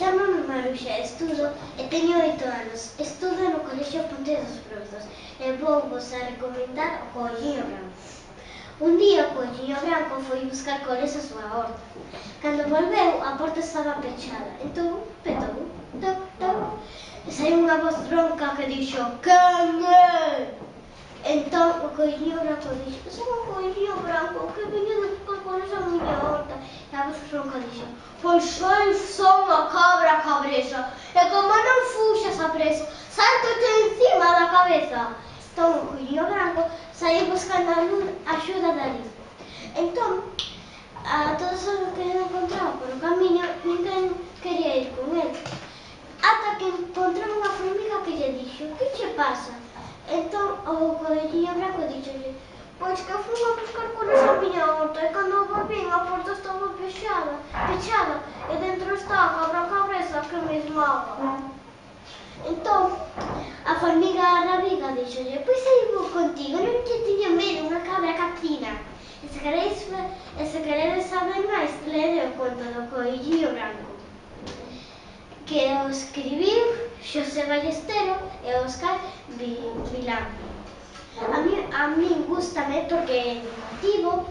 Chámame Maruxa, estudo e teño 8 anos. Estudo no Colexio Ponte dos Brozos e vou vos a recomendar o Coelliño Branco. Un día o Coelliño Branco foi buscar coles a súa horta. Cando volveu, a porta estaba pechada. Entón, petou, toc, toc, e saiu unha voz ronca que dixo: "Quen é?" Entón o Coelliño Branco dixo: "Son o Coelliño Branco que veño de buscar coles a miña horta." E a voz ronca dixo: "Pois eu son a cabra cabresa, e como non fuxas a preso, salto-te encima da cabeza." Entón o Coelliño Branco saíu buscando axuda dali. Entón, a todos os que encontraba polo camiño, ninguén quería ir con el. Ata que encontrou unha formiga que lle dixo: "Que che pasa?" Entón o Coelliño Branco dixolle: "Pois que fui a buscar coles a miña horta e cando volvín a porta estaba pechada e dentro está a cabra cabresa que me esmaga." Entón a formiga rabiga dixolle: "Pois aí vou contigo, non te tiña medo, unha cabra catrina." E se queredes saber máis, lede o conto do Coelliño Branco, que o escribiu Xosé Ballestero e Óscar Vilán. A min gústame porque é educativo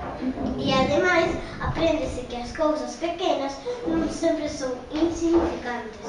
e ademais apréndese que as cousas pequenas non sempre son insignificantes.